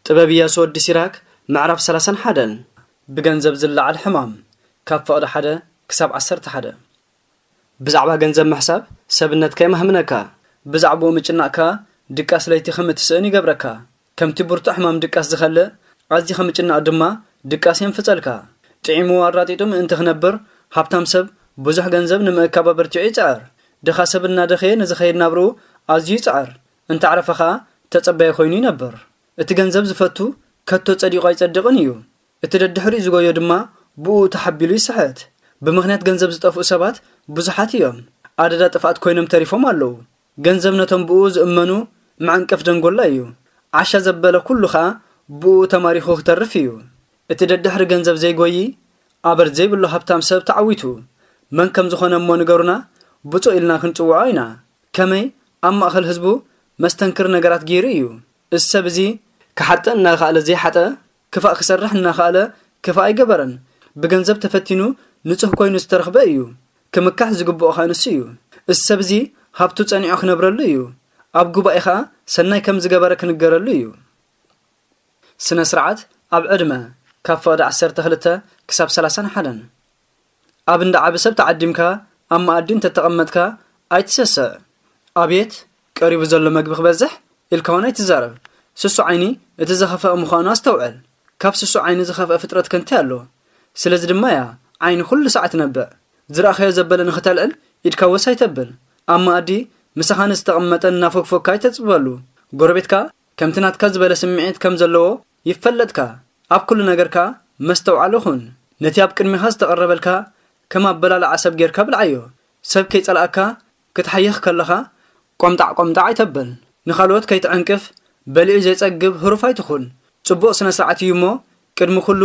ጥበብ ኢያሱ ወዲ ሲራክ፣ ምዕራፍ ሰላሳን ሓደን። ብገንዘብ ዝለዓል ሕማም፣ ካብ ፍቕዲ ሓደ ክሳብ ዓሰርተ ሓደ። ብዛዕባ ገንዘብ ምሕሳብ ሰብነትካ የማህምነካ፣ ብዛዕባኡ ምጭናቕካ ድቃስ ለይቲ ከም እትስእን ይገብረካ። ከምቲ ብርቱዕ ሕማም ድቃስ ዝኸልእ፣ ኣዝኻ ምጭናቕ ድማ ድቃስ የንፍጸልካ። ጥዒሙ ኣራጢጡ ምእንቲ ክነብር፣ ሃብታም ሰብ ብዙሕ ገንዘብ ንምእካብ ኣበርቲዑ ይጽዕር። ድኻ ሰብ እናደኸየ ንዝኸይድ ናብርኡ ኣዝዩ ይጽዕር። እንተዕረፈ ኸኣ ተጸባዪ ኮይኑ ይነብር። እቲ ገንዘብ ዝፈቱ ከቶ ጸዲቑ ኣይጸድቕን እዩ። እቲ ደድሕሪኡ ዝጎዮ ድማ ብኡ ተሓቢሉ ይስሕት። ብምኽንያት ገንዘብ ዝጠፍኡ ሰባት ብዙሓት እዮም። ኣደዳ ጥፍኣት ኮይኖም ተሪፎም ኣለዉ። ገንዘብ ነቶም ብኡ ዝእመኑ መዐንቀፍ ደንጎላ እዩ። ዓሻ ዘበለ ኩሉ ኸኣ ብኡ ተማሪኹ ክተርፍ እዩ። እቲ ደድሕሪ ገንዘብ ዘይጎዪ ኣበር ዘይብሉ ሃብታም ሰብ ተዓዊቱ። መን ከም ዝኾነ እሞ ንገሩና፣ ብፁዕ ኢልና ክንጽውዖ ኢና። ከመይ ኣብ ማእከል ህዝቡ መስተንክር ነገራት ገይሩ እዩ። እዚ ሰብ እዚ ክሓጥእ እናኸኣለ ዘይሓጠ፣ ክፋእ ክሰርሕ እናኸኣለ ክፋእ ኣይገበረን። ብገንዘብ ተፈቲኑ ንጹህ ኮይኑ ዝተረኽበ እዩ። ክምካሕ ዝግብኦ ኸኣ ንሱ እዩ። እዚ ሰብ እዚ ሃብቱ ጸኒዑ ክነብረሉ እዩ። ኣብ ጉባኤ ኸኣ ሰናይ ከም ዝገበረ ክንገረሉ እዩ። ስነ ስርዓት ኣብ ዕድመ፣ ካብ ፍቕዲ ዓሰርተ ክልተ ክሳብ ሰላሳን ሓደን። ኣብ እንዳ ዓቢ ሰብ ተዓዲምካ ኣብ መኣዲ እንተተቐመጥካ ኣይትሰስዕ። ኣቤት ቀሪቡ ዘሎ መግቢ ክበዝሕ ኢልካ እውን ኣይትዛረብ። ስሱዕ ዓይኒ እቲ ዝኸፍአ ምዃኑ ኣስተውዕል። ካብ ስሱዕ ዓይኒ ዝኸፍአ ፍጥረት ከ እንታይ ኣሎ? ስለዚ ድማ እያ ዓይኒ ኩሉ ሰዓት ትነብዕ። ዝረኣኻዮ ዘበለ ንኽተልዕል ኢድካ ወስ ኣይተብል። ኣብ መኣዲ ምሳኻ ንዝተቐመጠ እናፎግፎግካ ኣይተጽብበሉ። ጎረቤትካ ከምቲ ናትካ ዝበለ ስምዒት ከም ዘለዎ ይፈለጥካ። ኣብ ኩሉ ነገርካ መስተውዓሊ ኩን። ነቲ ኣብ ቅድሚኻ ዝተቐረበልካ ከም ኣበላልዓ ሰብ ጌርካ ብልዓዮ። ሰብ ከይጸልኣካ ክትሓይኽ ከለኻ ቆምጣዕ ቆምጣዕ ኣይተብል። ንኻልኦት ከይትዕንቅፍ በሊዑ ዘይጸግብ ህሩፍ ኣይትኹን። ጽቡቕ ስነ ስርዓት እዩ እሞ ቅድሚ ኩሉ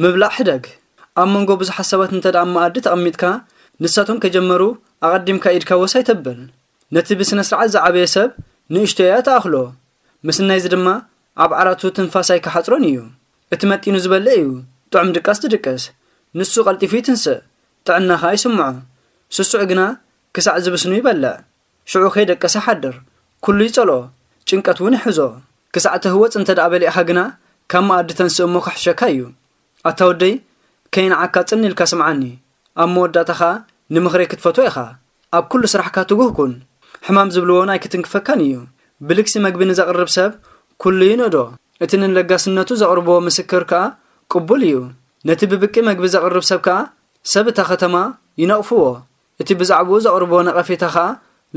ምብላዕ ሕደግ። ኣብ መንጎ ብዙሓት ሰባት እንተ ደኣ ኣብ መኣዲ ተቐሚጥካ ንሳቶም ከይጀመሩ ኣቐዲምካ ኢድካ ወስ ኣይተብል። ነቲ ብስነ ስርዓት ዝዓበየ ሰብ ንእሽቶ እያ ትኣኽሎ። ምስናይዚ ድማ ኣብ ዓራቱ ትንፋስ ኣይክሓጽሮን እዩ። እቲ መጢኑ ዝበልዕ እዩ ጥዑም ድቃስ ዝድቅስ። ንሱ ቀልጢፉ ይትንስእ፣ ጥዕና ኸኣ ይስምዖ። ስሱዕ ግና ክሳዕ ዝብስኑ ይበልዕ። ሽዑ ከይደቀሰ ይሓድር። ኩሉ ይጸልኦ፣ ጭንቀት እውን ይሕዞ። ክሳዕ ትህወጽ እንተ ደኣ በሊዕኻ ግና ካብ መኣዲ ተንስእ እሞ ክሕሸካ እዩ። ኣታ ወደይ፣ ከይንዓካ ጽን ኢልካ ስምዓኒ። ኣብ መወዳእታ ኸኣ ንምኽረይ ክትፈትዎ ኢኻ። ኣብ ኩሉ ስራሕካ ትጉህ ኩን። ሕማም ዝብልዎ እውን ኣይክትንክፈካን እዩ። ብልግሲ መግቢ ንዘቕርብ ሰብ ኩሉ ይንእዶ። እቲ ንለጋስነቱ ዘቕርቦ ምስክር ከኣ ቅቡል እዩ። ነቲ ብብቂ መግቢ ዘቕርብ ሰብ ከኣ ሰብ እታ ኸተማ ይነቕፍዎ። እቲ ብዛዕባኡ ዘቕርቦ ነቐፌታ ኸኣ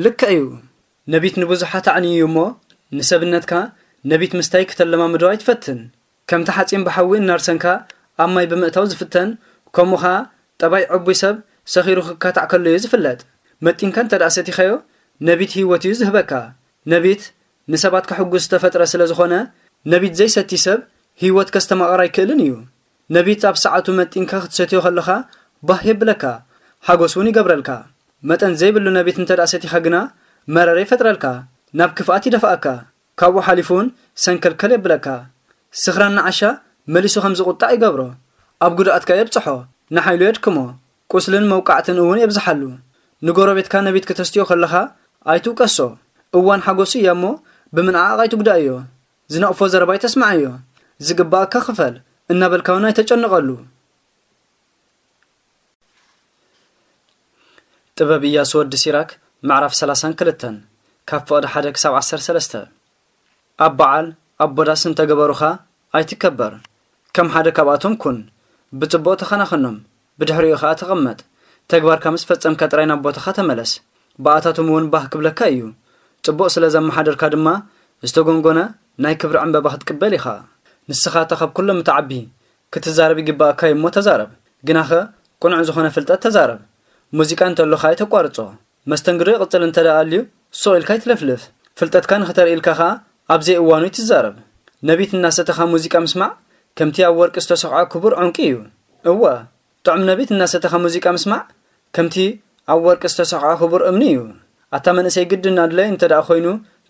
ልክዕ እዩ። ነቢት ንብዙሓት ኣዕንዩ እዩ እሞ፣ ንሰብነትካ ነቢት ምስታይ ክተለማምዶ ኣይትፈትን። ከምቲ ሓጺን ብሓዊ እናርሰንካ ኣብ ማይ ብምእታው ዝፍተን፣ ከምኡ ኸኣ ጠባይ ዕቡይ ሰብ ሰኺሩ ክካታዕ ከሎ እዩ ዝፍለጥ። መጢንካ እንተ ደኣ ሰቲኻዮ፣ ነቢት ህይወት እዩ ዝህበካ። ነቢት ንሰባት ከሕጉስ ዝተፈጥረ ስለ ዝኾነ፣ ነቢት ዘይሰቲ ሰብ ህይወት ከስተማቕር ኣይክእልን እዩ። ነቢት ኣብ ሰዓቱ መጢንካ ክትሰትዮ ከለኻ ባህ የብለካ፣ ሓጎስ እውን ይገብረልካ። መጠን ዘይብሉ ነቢት እንተ ደኣ ሰቲኻ ግና መረረ ይፈጥረልካ፣ ናብ ክፍኣት ይደፍኣካ። ካብኡ ሓሊፉ እውን ሰንከልከል የብለካ። ስኽራን ንዓሻ መሊሱ ከም ዝቑጣዕ ይገብሮ። ኣብ ጉድኣትካ የብጽሖ፣ ንሓይሉ የድክሞ፣ ቁስልን መውቃዕትን እውን የብዝሓሉ። ንጎረቤትካ ነቢት ክተስትዮ ከለኻ ኣይትውቀሶ። እዋን ሓጎሱ እያ እሞ ብምንዓቕ ኣይትጉዳእዮ። ዝነቕፎ ዘረባ ኣይተስምዓዮ። ዝግባኣካ ክፈል እናበልካ እውን ኣይተጨንቐሉ። ጥበብ ኢያሱ ወዲ ሲራክ፣ ምዕራፍ ሰላሳን ክልተን፣ ካብ ፍቕዲ ሓደ ክሳብ ዓሰርተ ሰለስተ። ኣብ በዓል፣ ኣብ ቦዳስ እንተገበሩኻ ኣይትከበር። ከም ሓደ ካብኣቶም ኩን። ብጽቡቕ ተኸናኸኖም፣ ብድሕሪኡ ኸኣ ተቐመጥ። ተግባርካ ምስ ፈጸምካ ጥራይ ናብ ቦታኻ ተመለስ። ብኣታቶም እውን ባህ ክብለካ እዩ። ጽቡቕ ስለ ዘመሓደርካ ድማ ዝተጎንጎነ ናይ ክብሪ ዕምበባ ክትቅበል ኢኻ። ንስኻ እታ ካብ ኩሎም እትዓቢ፣ ክትዛረብ ይግባኣካ እዩ እሞ ተዛረብ። ግናኸ ቅኑዕ ዝኾነ ፍልጠት ተዛረብ። ሙዚቃ እንተሎኻ ኣይተቋርጾ። መስተንግዶ ይቕጽል እንተ ደኣ ኣልዩ፣ ሱቕ ኢልካ ኣይትለፍልፍ። ፍልጠትካ ንኽተርኢ ኢልካ ኸኣ ኣብ ዘይእዋኑ ኣይትዛረብ። ነቢት እናሰተኻ ሙዚቃ ምስማዕ፣ ከምቲ ኣብ ወርቂ ዝተሰኽዐ ክቡር ዕንቁ እዩ። እወ፣ ጥዑም ነቢት እናሰተኻ ሙዚቃ ምስማዕ፣ ከምቲ ኣብ ወርቂ ዝተሰኽዐ ክቡር እምኒ እዩ። ኣታ መንእሰይ ግድን ኣድላዪ እንተ ደኣ ኮይኑ፣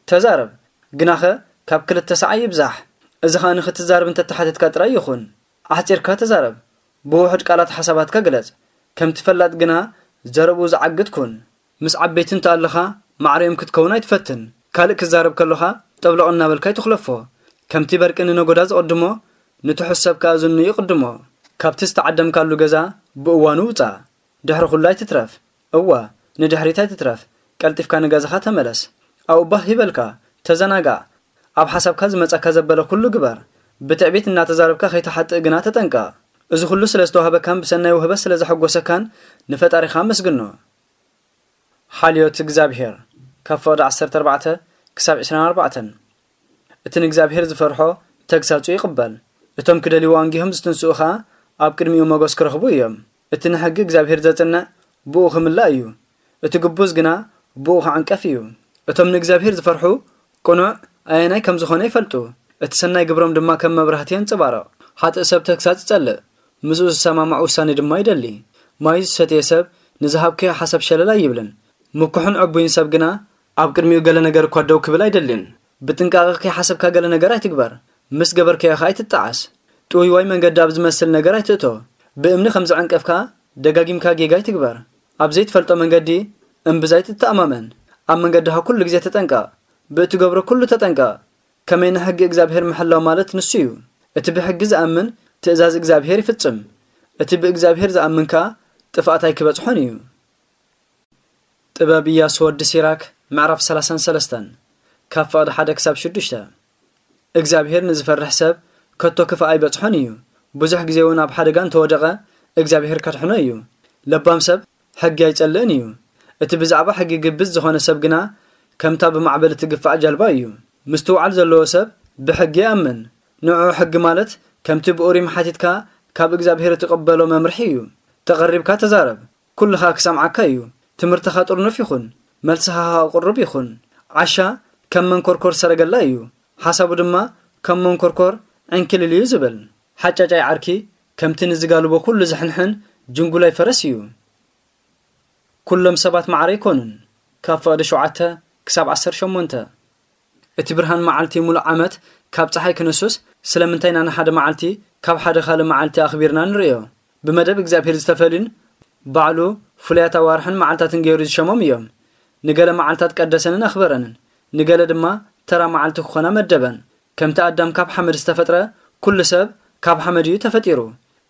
ተዛረብ። ግናኸ ካብ ክልተ ሰዓ ይብዛሕ። እዚ ኸኣ ንኽትዛረብ እንተተሓተትካ ጥራይ ይኹን። ኣሕጺርካ ተዛረብ። ብውሑድ ቃላት ሓሳባትካ ግለጽ። ከምቲ ፈላጥ ግና ዘረብኡ ዝዓግት ኩን። ምስ ዓበይቲ እንተ ኣለኻ ማዕረኦም ክትከውን ኣይትፈትን። ካልእ ክዛረብ ከሎኻ ጠብለቕ እናበልካ ኣይትኹለፎ። ከምቲ በርቂ ንነጎዳ ዝቕድሞ፣ ንትሑት ሰብ ከኣ ዝኑ ይቕድሞ። ካብቲ ዝተዓደምካሉ ገዛ ብእዋኑ ውጻእ። ድሕሪ ኩሉ ኣይትትረፍ። እወ፣ ንድሕሪት ኣይትትረፍ። ቀልጢፍካ ንገዛኻ ተመለስ። ኣብኡ ባህ ይበልካ፣ ተዘናጋዕ። ኣብ ሓሳብካ ዝመጻካ ዘበለ ኩሉ ግበር። ብትዕቢት እናተዛረብካ ከይትሓጥእ ግና ተጠንቀቕ። እዚ ኩሉ ስለ ዝተዋህበካን ብሰናይ ውህበት ስለ ዘሐጎሰካን ንፈጣሪኻ ኣመስግኖ። ሓልዮት እግዚኣብሔር፣ ካብ ፍቕዲ ዓሰርተ ኣርባዕተ ክሳብ ዕስራን ኣርባዕተን። እቲ ንእግዚኣብሔር ዝፈርሖ ተግሳጹ ይቕበል። እቶም ክደልይዎ ኣንጊሆም ዝትንስኡ ኸኣ ኣብ ቅድሚኡ ሞገስ ክረኽቡ እዮም። እቲ ንሕጊ እግዚኣብሔር ዘጽንዕ ብኡ ክምላእ እዩ። እቲ ግቡዝ ግና ብኡ ክዕንቀፍ እዩ። እቶም ንእግዚኣብሔር ዝፈርሑ ቅኑዕ ኣየናይ ከም ዝኾነ ይፈልጡ። እቲ ሰናይ ግብሮም ድማ ከም መብራህቲ የንጸባርቕ። ሓጥእ ሰብ ተግሳጽ ይጸልእ፣ ምስኡ ዝሰማማዕ ውሳኔ ድማ ይደሊ። ማይ ዝሰትየ ሰብ ንዝሃብክዮ ሓሳብ ሸለል ኣይብልን። ምኩሕን ዕቡይን ሰብ ግና ኣብ ቅድሚኡ ገለ ነገር እኳ ደው ክብል ኣይደልን። ብጥንቃቐ ከይሓሰብካ ገለ ነገር ኣይትግበር። ምስ ገበርካዮ ኸኣ ኣይትጠዓስ። ጥውይዋይ መንገዲ ኣብ ዝመስል ነገር ኣይትእቶ። ብእምኒ ከም ዝዕንቀፍካ ደጋጊምካ ጌጋ ኣይትግበር። ኣብ ዘይትፈልጦ መንገዲ እምብዛ ኣይትተኣማመን። ኣብ መንገድኻ ኩሉ ግዜ ተጠንቀቕ። ብእትገብሮ ኩሉ ተጠንቀቕ። ከመይ ንሕጊ እግዚኣብሔር ምሕላው ማለት ንሱ እዩ። እቲ ብሕጊ ዝኣምን ትእዛዝ እግዚኣብሔር ይፍጽም። እቲ ብእግዚኣብሔር ዝኣምን ከኣ ጥፍኣት ኣይክበጽሖን እዩ። ጥበብ ኢያሱ ወዲ ሲራክ፣ ምዕራፍ ሰላሳን ሰለስተን፣ ካብ ፍቕዲ ሓደ ክሳብ ሽዱሽተ። እግዚኣብሔር ንዝፈርሕ ሰብ ከቶ ክፋእ ኣይበጽሖን እዩ። ብዙሕ ግዜ እውን ኣብ ሓደጋ እንተወደቐ እግዚኣብሔር ከድሕኖ እዩ። ለባም ሰብ ሕጊ ኣይጸልእን እዩ። እቲ ብዛዕባ ሕጊ ግብዝ ዝኾነ ሰብ ግና ከምታ ብማዕበል እትግፋዕ ጃልባ እዩ። ምስትውዓል ዘለዎ ሰብ ብሕጊ ይኣምን። ንዑ ሕጊ ማለት ከምቲ ብኡሪም ሓቲትካ ካብ እግዚኣብሔር እትቕበሎ መምርሒ እዩ። ተቐሪብካ ተዛረብ፣ ኩሉ ኸኣ ክሰምዓካ እዩ። ትምህርትኻ ጥርኑፍ ይኹን፣ መልስኻ ኸኣ ቅሩብ ይኹን። ዓሻ ከም መንኮርኮር ሰረገላ እዩ፣ ሓሳቡ ድማ ከም መንኮርኮር ዕንክሊል እዩ ዝብል። ሓጫጫይ ዓርኪ ከምቲ ንዝጋልቦ ኩሉ ዝሕንሕን ጅንጉላይ ፈረስ እዩ። ኩሎም ሰባት ማዕረ ኣይኮኑን። ካብ ፍቕዲ ሸውዓተ ክሳብ ዓሰርተ ሸሞንተ። እቲ ብርሃን መዓልቲ ሙሉእ ዓመት ካብ ጸሓይ ክንሱስ፣ ስለምንታይ ኢና ንሓደ መዓልቲ ካብ ሓደ ካልእ መዓልቲ ኣኽቢርና ንርእዮ? ብመደብ እግዚኣብሔር ዝተፈልዩን ባዕሉ ፍሉያት ኣዋርሕን መዓልታትን ገይሩ ዝሸሞም እዮም። ንገለ መዓልታት ቀደሰንን ኣኽበረንን፣ ንገለ ድማ ተራ መዓልቲ ክኾና መደበን። ከምቲ ኣዳም ካብ ሓመድ ዝተፈጥረ፣ ኩሉ ሰብ ካብ ሓመድ እዩ ተፈጢሩ።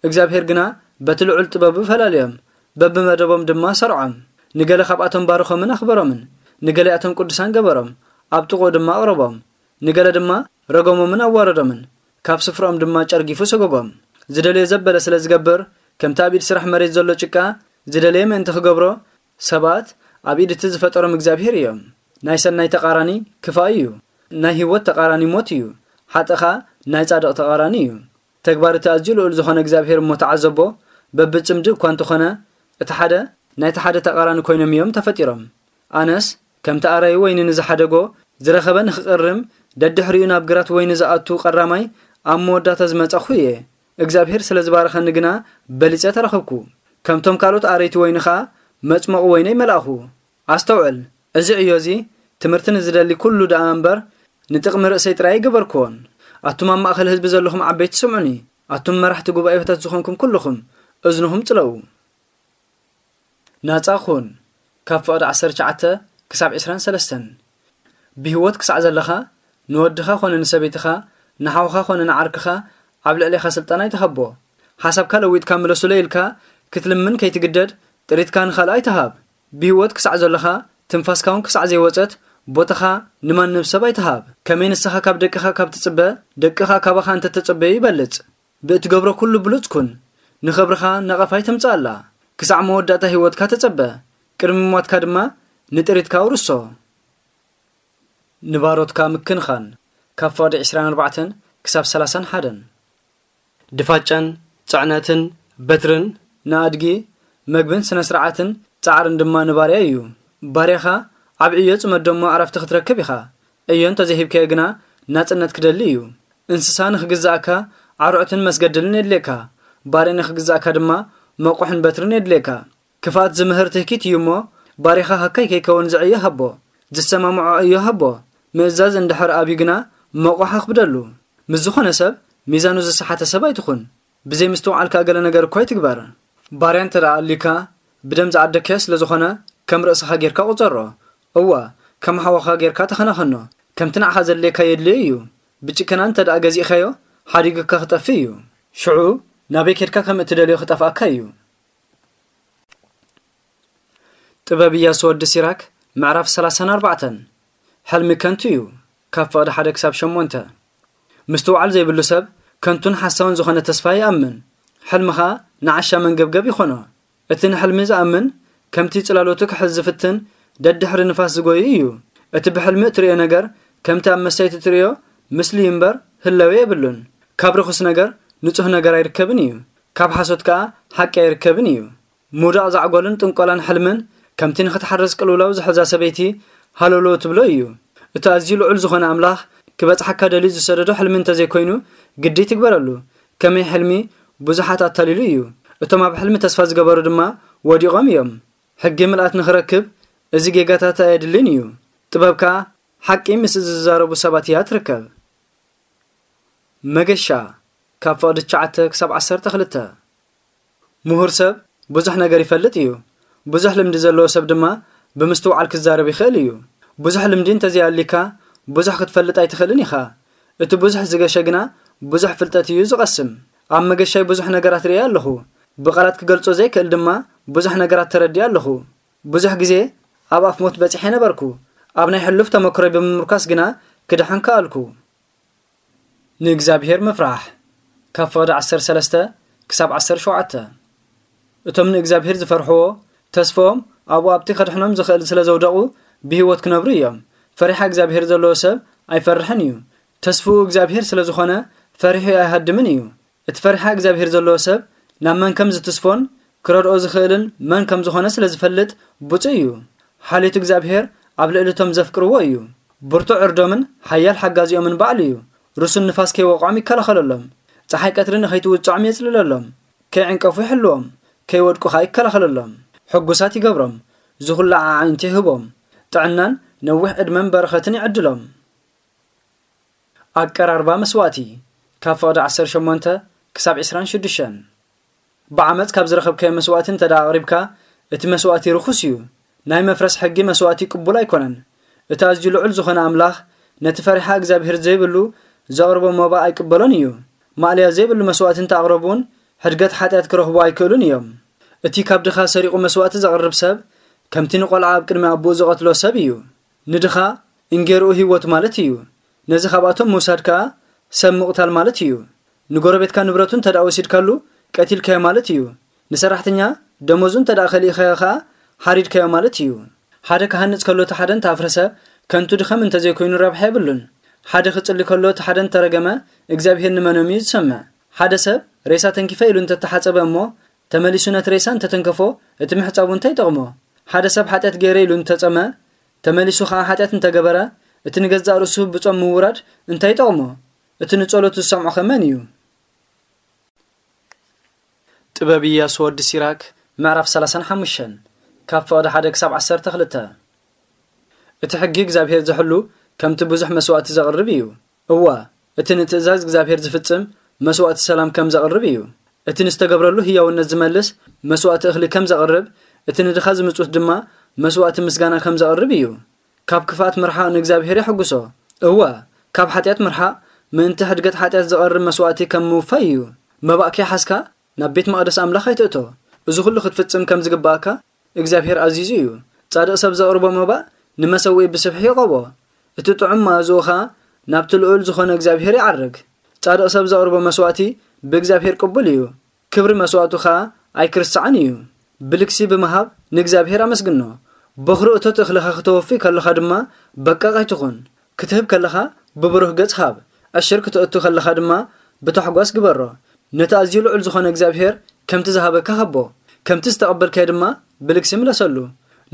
እግዚኣብሔር ግና በቲ ልዑል ጥበቡ ፈላለዮም፣ በብመደቦም ድማ ሰርዖም። ንገለ ካብኣቶም ባረኾምን ኣኽበሮምን፣ ንገሊኣቶም ቅዱሳን ገበሮም፣ ኣብ ጥቕኡ ድማ ኣቕረቦም። ንገለ ድማ ረገሞምን ኣዋረዶምን፣ ካብ ስፍራኦም ድማ ጨርጊፉ ሰጎጎም። ዝደለዮ ዘበለ ስለ ዝገብር፣ ከምቲ ኣብ ኢድ ስራሕ መሬት ዘሎ ጭቃ፣ ዝደለየ ምእንቲ ክገብሮ፣ ሰባት ኣብ ኢድ እቲ ዝፈጠሮም እግዚኣብሔር እዮም። ናይ ሰናይ ተቓራኒ ክፋእ እዩ። ናይ ህይወት ተቓራኒ ሞት እዩ። ሓጥእ ኸኣ ናይ ጻድቕ ተቓራኒ እዩ። ተግባር እቲ ኣዝዩ ልዑል ዝኾነ እግዚኣብሔር እሞ ተዓዘቦ፣ በብጽምዲ እኳ እንተኾነ፣ እቲ ሓደ ናይቲ ሓደ ተቓራኒ ኮይኖም እዮም ተፈጢሮም። ኣነስ ከምቲ ኣራዪ ወይኒ ንዝሓደጎ፣ ዝረኸበ ንኽቕርም፣ ደድሕሪኡ ናብ ግራት ወይኒ ዝኣቱ ቀራማይ ኣብ መወዳእታ ዝመጻኹ እየ። እግዚኣብሔር ስለ ዝባረኸኒ ግና በሊጸ ተረኸብኩ። ከምቶም ካልኦት ኣረይቲ ወይኒ ኸኣ መጽመቑ ወይነይ መልኣኹ። ኣስተውዕል፣ እዚ ዕዮ እዚ ትምህርቲ ንዝደሊ ኩሉ ደኣ እምበር፣ ንጥቕሚ ርእሰይ ጥራይ ኣይገበርክዎን። ኣቱም ኣብ ማእከል ህዝቢ ዘለኹም ዓበይቲ ስምዑኒ። ኣቱም መራሕቲ ጉባኤታት ዝኾንኩም ኩልኹም፣ እዝንኹም ጽለዉ። ናጻ ኩን፣ ካብ ፍቕዲ ዓሰርተ ትሽዓተ ክሳብ ዕስራን ሰለስተን። ብህይወት ክሳዕ ዘለኻ፣ ንወድኻ ኾነ ንሰበይትኻ፣ ንሓውኻ ኾነ ንዓርክኻ፣ ኣብ ልዕሌኻ ስልጣን ኣይትሃቦ። ሓሳብካ ለዊጥካ ምለሱለይ ኢልካ ክትልምን ከይትግደድ፣ ጥሪትካ ንኻልእ ኣይትሃብ። ብህይወት ክሳዕ ዘለኻ፣ ትንፋስካ እውን ክሳዕ ዘይወጸት፣ ቦታኻ ንማንም ሰብ ኣይትሃብ። ከመይ ንስኻ ካብ ደቅኻ ካብ ትጽበ፣ ደቅኻ ካባኻ እንተተጸበዩ ይበልጽ። ብእትገብሮ ኩሉ ብሉጽ ኩን። ንኽብርኻ ነቐፋ ኣይተምጽኣላ። ክሳዕ መወዳእታ ህይወትካ ተጸበ። ቅድሚ ሞትካ ድማ ንጥሪትካ ኣውርሶ። ንባሮትካ ምክንኻን፣ ካብ ፍቕዲ ዕስራን ኣርባዕተን ክሳብ ሰላሳን ሓደን። ድፋጫን ጽዕነትን በትርን ንኣድጊ፣ መግብን ስነ ስርዓትን ጻዕርን ድማ ንባርያ እዩ። ባርያኻ ኣብ ዕዮ ጽመዶ እሞ ዕረፍቲ ክትረክብ ኢኻ። ዕዮ እንተዘይሂብካዮ ግና ናጽነት ክደሊ እዩ። እንስሳ ንኽግዛእካ ዓርዑትን መስገድልን የድልየካ። ባርያ ንኽግዛእካ ድማ መቑሕን በትርን የድልየካ። ክፍኣት ዝምህር ትህኪት እዩ እሞ፣ ባርያኻ ሃካይ ከይከውን ዝዕዮ ሃቦ። ዝሰማምዖ ዕዮ ሃቦ። ምእዛዝ እንድሕር ኣብዩ ግና መቑሕ ኣኽብደሉ። ምስ ዝኾነ ሰብ ሚዛኑ ዝሰሓተ ሰብ ኣይትኹን። ብዘይ ምስትውዓል ከኣ ገለ ነገር እኳ ኣይትግበር። ባርያ እንተ ደኣ ኣልዩካ፣ ብደም ዝዓደግካዮ ስለ ዝኾነ፣ ከም ርእስኻ ጌርካ ቁጸሮ። እወ፣ ከም ሓውኻ ጌርካ ተኸናኸኖ። ከምቲ ንዓኻ ዘድልየካ የድልዮ እዩ። ብጭከና እንተ ደኣ ገዚእካዮ፣ ሓዲጉካ ክጠፍእ እዩ። ሽዑ ናበይ ኬድካ ከም እትደልዮ ክጠፍኣካ እዩ። ጥበብ ኢያሱ ወዲ ሲራክ፣ ምዕራፍ ሰላሳን ኣርባዕተን። ሕልሚ ከንቱ እዩ፣ ካብ ፍቕዲ ሓደ ክሳብ ሸሞንተ። ምስትውዓል ዘይብሉ ሰብ ከንቱን ሓሳውን ዝኾነ ተስፋ ይኣምን። ሕልሚ ኸኣ ንዓሻ መንገብገብ ይኾኖ። እቲ ንሕልሚ ዝኣምን፣ ከምቲ ጽላሎቱ ክሕዝ ዝፍትን፣ ደድሕሪ ንፋስ ዝጎዩ እዩ። እቲ ብሕልሚ እትርእዮ ነገር፣ ከምቲ ኣብ መስተይቲ እትርእዮ ምስሊ እዩ እምበር ህላዌ የብሉን። ካብ ርኹስ ነገር ንጹህ ነገር ኣይርከብን እዩ፣ ካብ ሓሶት ከኣ ሓቂ ኣይርከብን እዩ። ምውዳቕ ዛዕጎልን ጥንቆላን ሕልምን፣ ከምቲ ንኽትሓርስ ቅልውላው ዝሕዛ ሰበይቲ ሃለውለው ትብሎ እዩ። እቲ ኣዝዩ ልዑል ዝኾነ ኣምላኽ ክበጽሓካ ደልዩ ዝሰደዶ ሕልሚ እንተዘይኮይኑ፣ ግዲ ትግበረሉ። ከመይ ሕልሚ ብዙሓት ኣታሊሉ እዩ። እቶም ኣብ ሕልሚ ተስፋ ዝገበሩ ድማ ወዲቖም እዮም። ሕጊ ምልኣት ንኽረክብ እዚ ጌጋታት ኣየድልን እዩ። ጥበብ ከኣ ሓቂ ምስ ዝዛረቡ ሰባት እያ ትርከብ። መገሻ፣ ካብ ፍቕዲ ትሽዓተ ክሳብ ዓሰርተ ክልተ። ምሁር ሰብ ብዙሕ ነገር ይፈልጥ እዩ። ብዙሕ ልምዲ ዘለዎ ሰብ ድማ ብምስትውዓል ክዛረብ ይኽእል እዩ። ብዙሕ ልምዲ እንተዘይኣልዩካ፣ ብዙሕ ክትፈልጥ ኣይትኽእልን ኢኻ። እቲ ብዙሕ ዝገሸ ግና ብዙሕ ፍልጠት እዩ ዝቐስም። ኣብ መገሻይ ብዙሕ ነገራት ርእየ ኣለኹ። ብቓላት ክገልጾ ዘይክእል ድማ ብዙሕ ነገራት ተረዲእ ኣለኹ። ብዙሕ ግዜ ኣብ ኣፍ ሞት በጺሐ ነበርኩ። ኣብ ናይ ሕሉፍ ተመክሮይ ብምምርኳስ ግና ክድሕን ከኣልኩ። ንእግዚኣብሔር ምፍራሕ፣ ካብ ፍቕዲ ዓሰርተ ሰለስተ ክሳብ ዓሰርተ ሸውዓተ። እቶም ንእግዚኣብሔር ዝፈርሕዎ፣ ተስፍኦም ኣብኡ ኣብቲ ከድሕኖም ዝኽእል ስለ ዘውደቑ፣ ብህይወት ክነብሩ እዮም። ፈሪሓ እግዚኣብሔር ዘለዎ ሰብ ኣይፈርሕን እዩ። ተስፍኡ እግዚኣብሔር ስለ ዝኾነ፣ ፈሪሑ ኣይሃድምን እዩ። እቲ ፈሪሓ እግዚኣብሔር ዘለዎ ሰብ፣ ናብ መን ከም ዝትስፎን ክረድኦ ዝኽእልን መን ከም ዝኾነ ስለ ዝፈልጥ፣ ብፁዕ እዩ። ሓልዮት እግዚኣብሔር ኣብ ልዕሊ እቶም ዘፍቅርዎ እዩ። ብርቱዕ ዕርዶምን ሓያል ሓጋዚኦምን ባዕሉ እዩ። ርሱን ንፋስ ከይወቕዖም ይከላኸለሎም። ጸሓይ ቀትሪ ንኸይትውጽዖም የጽልለሎም። ከይዕንቀፉ ይሕልዎም። ከይወድቁ ኸኣ ይከላኸለሎም። ሕጉሳት ይገብሮም። ዝኹላዕ ኣዒንቲ ይህቦም። ጥዕናን ነዊሕ ዕድመን በረኸትን ይዕድሎም። ኣቀራርባ መስዋእቲ፣ ካብ ፍቕዲ ዓሰርተ ሸሞንተ ክሳብ ዕስራን ሽዱሽተን። ብዓመጽ ካብ ዝረኸብካዮ መስዋእቲ እንተ ደኣ ኣቕሪብካ፣ እቲ መስዋእቲ ርኹስ እዩ። ናይ መፍረስ ሕጊ መስዋእቲ ቅቡል ኣይኮነን። እቲ ኣዝዩ ልዑል ዝኾነ ኣምላኽ፣ ነቲ ፈሪሓ እግዚኣብሔር ዘይብሉ ዘቕርቦ መባእ ኣይቅበሎን እዩ። ማእለያ ዘይብሉ መስዋእቲ እንተ ኣቕረቡ እውን፣ ሕድገት ሓጢኣት ክረኽቡ ኣይክእሉን እዮም። እቲ ካብ ድኻ ሰሪቑ መስዋእቲ ዘቕርብ ሰብ፣ ከምቲ ንቖልዓ ኣብ ቅድሚ ኣቦኡ ዝቐትሎ ሰብ እዩ። ንድኻ እንጌርኡ ህይወት ማለት እዩ። ነዚ ካብኣቶም ምውሳድ ከኣ ሰብ ምቕታል ማለት እዩ። ንጎረቤትካ ንብረቱ እንተ ደኣ ወሲድካሉ፣ ቀቲልካዮ ማለት እዩ። ንሰራሕተኛ ደሞዙ እንተ ደኣ ከሊእካዮ ከኣ፣ ሓሪድካዮ ማለት እዩ። ሓደ ክሃንጽ ከሎ እቲ ሓደ እንተ ኣፍረሰ፣ ከንቱ ድኸም እንተ ዘይኮይኑ ረብሓ የብሉን። ሓደ ክጽሊ ከሎ እቲ ሓደ እንተ ረገመ፣ እግዚኣብሔር ንመኖም እዩ ዝሰምዕ? ሓደ ሰብ ሬሳ ተንኪፈ ኢሉ እንተ ተሓጸበ እሞ፣ ተመሊሱ ነቲ ሬሳ እንተ ተንከፎ፣ እቲ ምሕጻቡ እንታይ ይጠቕሞ? ሓደ ሰብ ሓጢኣት ገይረ ኢሉ እንተ ጸመ፣ ተመሊሱ ኸኣ ሓጢኣት እንተ ገበረ፣ እቲ ንገዛእ ርእሱ ብጾም ምውራድ እንታይ ይጠቕሞ? እቲ ንጸሎቱ ዝሰምዖ ኸ መን እዩ? ጥበብ ኢያሱ ወዲ ሲራክ፣ ምዕራፍ ሰላሳን ሓሙሽተን፣ ካብ ፍቕዲ ሓደ ክሳብ ዓሰርተ ክልተ። እቲ ሕጊ እግዚኣብሔር ዝሕሉ ከምቲ ብዙሕ መስዋእቲ ዘቕርብ እዩ። እወ፣ እቲ ንትእዛዝ እግዚኣብሔር ዝፍጽም መስዋእቲ ሰላም ከም ዘቕርብ እዩ። እቲ ንዝተገብረሉ ህያውነት ዝመልስ መስዋእቲ እኽሊ ከም ዘቕርብ፣ እቲ ንድኻ ዝምጽውት ድማ መስዋእቲ ምስጋና ከም ዘቕርብ እዩ። ካብ ክፍኣት ምርሓቕ ንእግዚኣብሔር የሐጉሶ። እወ፣ ካብ ሓጢኣት ምርሓቕ ምእንቲ ሕድገት ሓጢኣት ዝቐርብ መስዋእቲ ከም ምውፋይ እዩ። መባእ ከይሓዝካ ናብ ቤት መቕደስ ኣምላኽ ኣይትእቶ። እዚ ኹሉ ክትፍጽም ከም ዝግብኣካ እግዚኣብሔር ኣዚዙ እዩ። ጻድቕ ሰብ ዘቕርቦ መባእ ንመሰውኢ ብስብሒ ይቐቦ። እቲ ጥዑም መኣዝኡ ኸኣ ናብቲ ልዑል ዝኾነ እግዚኣብሔር ይዓርግ። ጻድቕ ሰብ ዘቕርቦ መስዋእቲ ብእግዚኣብሔር ቅቡል እዩ። ክብሪ መስዋእቱ ኸኣ ኣይክርሳዕን እዩ። ብልግሲ ብምሃብ ንእግዚኣብሔር ኣመስግኖ። በኹሪ እቶት እኽልኻ ክተወፊ ከለኻ ድማ በቃቕ ኣይትኹን። ክትህብ ከለኻ ብብሩህ ገጽ ሃብ። ዕሽር ክተእቱ ከለኻ ድማ ብታሕጓስ ግበሮ። ነቲ ኣዝዩ ልዑል ዝኾነ እግዚኣብሔር ከምቲ ዝሃበካ ሃቦ። ከምቲ ዝተቐበልካዮ ድማ ብልግሲ ምለሰሉ።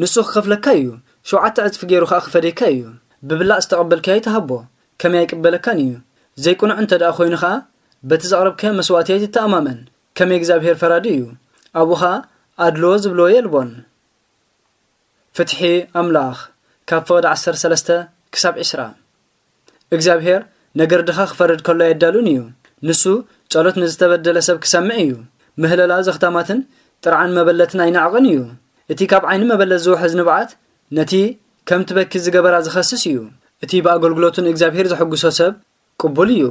ንሱ ክኸፍለካ እዩ፣ ሸውዓተ ዕጽፊ ገይሩ ኸኣ ክፈድየካ እዩ። ብብላዕ ዝተቐበልካዮ ኣይትሃቦ፣ ከመይ ኣይቅበለካን እዩ። ዘይቅኑዕ እንተ ደኣ ኮይኑ ኸኣ፣ በቲ ዘቕረብካዮ መስዋእቲ ኣይትተኣማመን፣ ከመይ እግዚኣብሔር ፈራዲ እዩ። ኣብኡ ኸኣ ኣድልዎ ዝብልዎ የልቦን። ፍትሒ ኣምላኽ፣ ካብ ፍቕዲ ዓሰርተ ሰለስተ ክሳብ ዕስራ። እግዚኣብሔር ነገር ድኻ ክፈርድ ከሎ ኣየዳሉን እዩ። ንሱ ጸሎት ንዝተበደለ ሰብ ክሰምዕ እዩ። ምህለላ ዘኽታማትን ጥርዓን መበለትን ኣይነዕቕን እዩ። እቲ ካብ ዓይኒ መበለት ዝውሕዝ ንብዓት ነቲ ከም ትበኪ ዝገበራ ዝኸስስ እዩ። እቲ ብኣገልግሎቱ ንእግዚኣብሔር ዘሐጉሶ ሰብ ቅቡል እዩ።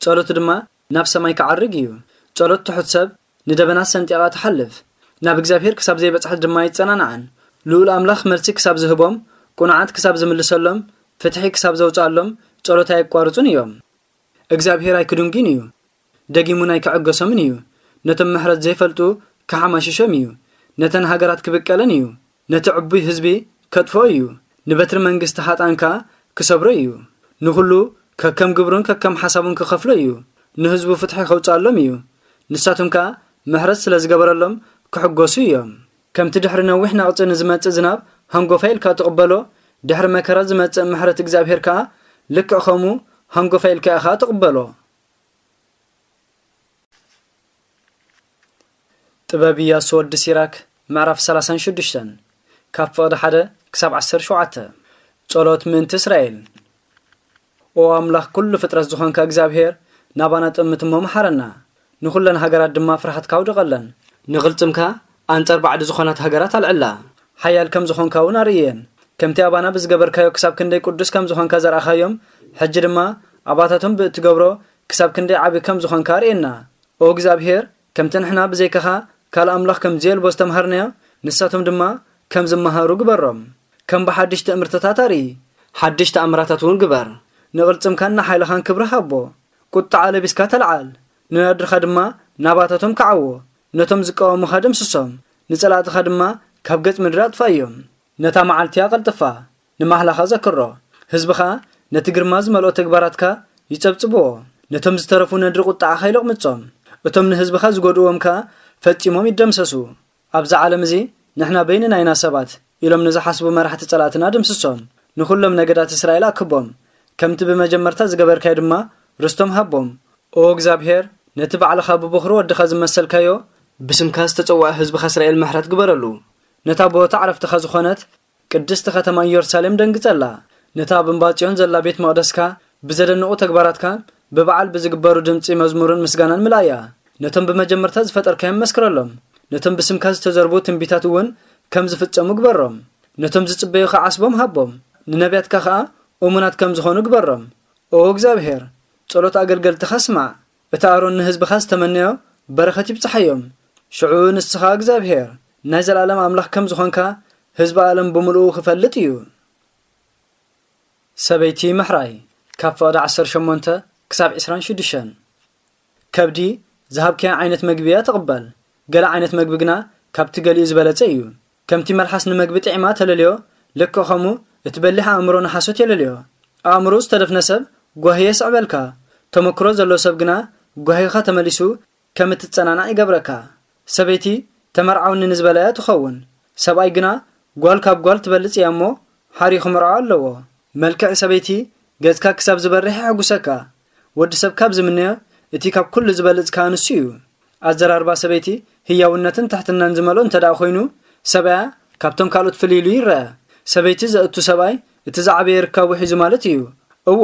ጸሎቱ ድማ ናብ ሰማይ ክዓርግ እዩ። ጸሎት ትሑት ሰብ ንደበናት ሰንጢቓ ትሓልፍ። ናብ እግዚኣብሔር ክሳብ ዘይበጽሐት ድማ ኣይጸናንዓን። ልኡል ኣምላኽ መልሲ ክሳብ ዝህቦም፣ ቅኑዓት ክሳብ ዝምልሰሎም፣ ፍትሒ ክሳብ ዘውጽኣሎም፣ ጸሎት ኣየቋርጹን እዮም። እግዚኣብሔር ኣይክድንጉን እዩ። ደጊሙን ኣይክዕገሶምን እዩ። ነቶም ምሕረት ዘይፈልጡ ክሓማሽሾም እዩ። ነተን ሃገራት ክብቀለን እዩ። ነቲ ዕቡይ ህዝቢ ከጥፍኦ እዩ። ንበትሪ መንግስቲ ሃጣን ከኣ ክሰብሮ እዩ። ንኹሉ ከከም ግብሩን ከከም ሓሳቡን ክኸፍሎ እዩ። ንህዝቡ ፍትሒ ከውጽኣሎም እዩ። ንሳቶም ከኣ ምሕረት ስለ ዝገበረሎም ክሕጎሱ እዮም። ከምቲ ድሕሪ ነዊሕ ነቕጺ ንዝመጽእ ዝናብ ሃንጎፋ ኢልካ ትቕበሎ፣ ድሕሪ መከራ ዝመጽእ ምሕረት እግዚኣብሔር ከኣ ልክዕ ከምኡ ሃንጎፋ ኢልካ ኢኻ ትቕበሎ። ጥበብ ኢያሱ ወዲ ሲራክ፣ ምዕራፍ ሰላሳን ሽዱሽተን፣ ካብ ፍቕዲ ሓደ ክሳብ ዓሰርተ ሸውዓተ። ጸሎት ምእንቲ እስራኤል። ኦ ኣምላኽ፣ ኩሉ ፍጥረት ዝኾንካ እግዚኣብሔር፣ ናባና ጥምት እሞ መሓረና። ንኹለን ሃገራት ድማ ፍርሃትካ ኣውድቐለን። ንቕልጽምካ ኣንጻር ባዕዲ ዝኾናት ሃገራት ኣልዕላ። ሓያል ከም ዝኾንካ እውን ኣርእየን። ከምቲ ኣባና ብዝገበርካዮ ክሳብ ክንደይ ቅዱስ ከም ዝኾንካ ዘርኣኻዮም፣ ሕጂ ድማ ኣባታቶም ብእትገብሮ ክሳብ ክንደይ ዓቢ ከም ዝኾንካ ኣርእየና። ኦ እግዚኣብሔር፣ ከምቲ ንሕና ብዘይካኻ ካልእ ኣምላኽ ከም ዘየልቦ ዝተምሃርናዮ፣ ንሳቶም ድማ ከም ዝመሃሩ ግበሮም። ከም ብሓድሽ ትእምርትታት ኣርኢ። ሓድሽ ተኣምራታት እውን ግበር። ንቕልጽምካን ንሓይልኻን ክብሪ ሃቦ። ቁጥዓ ለቢስካ ተለዓል። ንነድርኻ ድማ ናባታቶም ክዓዎ። ነቶም ዝቃወሙኻ ደምስሶም። ንጸላእትኻ ድማ ካብ ገጽ ምድሪ ኣጥፋእዮም። ነታ መዓልቲ ኣቐልጥፋ። ንማህላኻ ዘክሮ። ህዝብኻ ነቲ ግርማ ዝመልኦ ተግባራትካ ይጸብጽብዎ። ነቶም ዝተረፉ ነድሪ ቁጥዓኻ ይለቕምጾም። እቶም ንህዝብኻ ዝጎድእዎም ከኣ ፈጺሞም ይደምሰሱ። ኣብዛ ዓለም እዚ ንሕና በይንና ኢና ሰባት ኢሎም ንዝሓስቡ መራሕቲ ጸላእትና ደምስሶም። ንኹሎም ነገዳት እስራኤል ኣክቦም። ከምቲ ብመጀመርታ ዝገበርካዮ ድማ ርስቶም ሃቦም። ኦ እግዚኣብሔር፣ ነቲ ባዕልኻ ብበኹሪ ወድኻ ዝመሰልካዮ፣ ብስምካ ዝተጸውዐ ህዝብኻ እስራኤል ምሕረት ግበረሉ። ነታ ቦታ ዕረፍትኻ ዝኾነት ቅድስቲ ከተማ ኢየሩሳሌም ደንግጸላ። ነታ ኣብ እምባ ጽዮን ዘላ ቤት መቕደስካ ብዘደንቑ ተግባራትካ ብበዓል ብዝግበሩ ድምጺ መዝሙርን ምስጋናን ምልኣያ። ነቶም ብመጀመርታ ዝፈጠርካዮም መስክረሎም። ነቶም ብስምካ ዝተዘርቡ ትንቢታት እውን ከም ዝፍጸሙ ግበሮም። ነቶም ዝጽበዩኻ ዓስቦም ሃቦም። ንነቢያትካ ኸኣ እሙናት ከም ዝኾኑ ግበሮም። ኦ እግዚኣብሔር፣ ጸሎት ኣገልገልትኻ ስማዕ። እቲ ኣሮን ንህዝብኻ ዝተመነዮ በረኸት ይብጽሓዮም። ሽዑ ንስኻ እግዚኣብሔር፣ ናይ ዘለኣለም ኣምላኽ ከም ዝኾንካ ህዝቢ ዓለም ብምልኡ ክፈልጥ እዩ። ሰበይቲ ምሕራይ፣ ካብ ፍቕዲ ዓሰርተ ሸሞንተ ክሳብ ዕስራን ሽዱሽተን። ከብዲ ዝሃብካያ ዓይነት መግቢ እያ ትቕበል። ገለ ዓይነት መግቢ ግና ካብቲ ገሊኡ ዝበለጸ እዩ። ከምቲ መልሓስ ንመግቢ ጥዒማ ተለልዮ፣ ልክዕ ከምኡ እቲ በሊሕ ኣእምሮ ንሓሶት የለልዮ። ኣእምሮ ዝተደፍነ ሰብ ጓሂ የስዕበልካ። ተመክሮ ዘሎ ሰብ ግና ጓሂኻ ተመሊሱ ከም እትጸናናዕ ይገብረካ። ሰበይቲ ተመርዓውኒ ንዝበላ እያ ትኸውን። ሰብኣይ ግና ጓል ካብ ጓል ትበልጽ እያ እሞ ሓርዩ ክምርዖ ኣለዎ። መልክዕ ሰበይቲ ገጽካ ክሳብ ዝበርሕ የሐጉሰካ። ወዲ ሰብ ካብ ዝምነዮ እቲ ካብ ኩሉ ዝበልጽ ከኣ ንሱ እዩ። ኣዘራርባ ሰበይቲ ህያውነትን ትሕትናን ዝመልኦ እንተ ደኣ ኮይኑ፣ ሰብኣያ ካብቶም ካልኦት ፍልይ ኢሉ ይረአ። ሰበይቲ ዘእቱ ሰብኣይ እቲ ዝዓበየ ርካቡ ሒዙ ማለት እዩ። እወ፣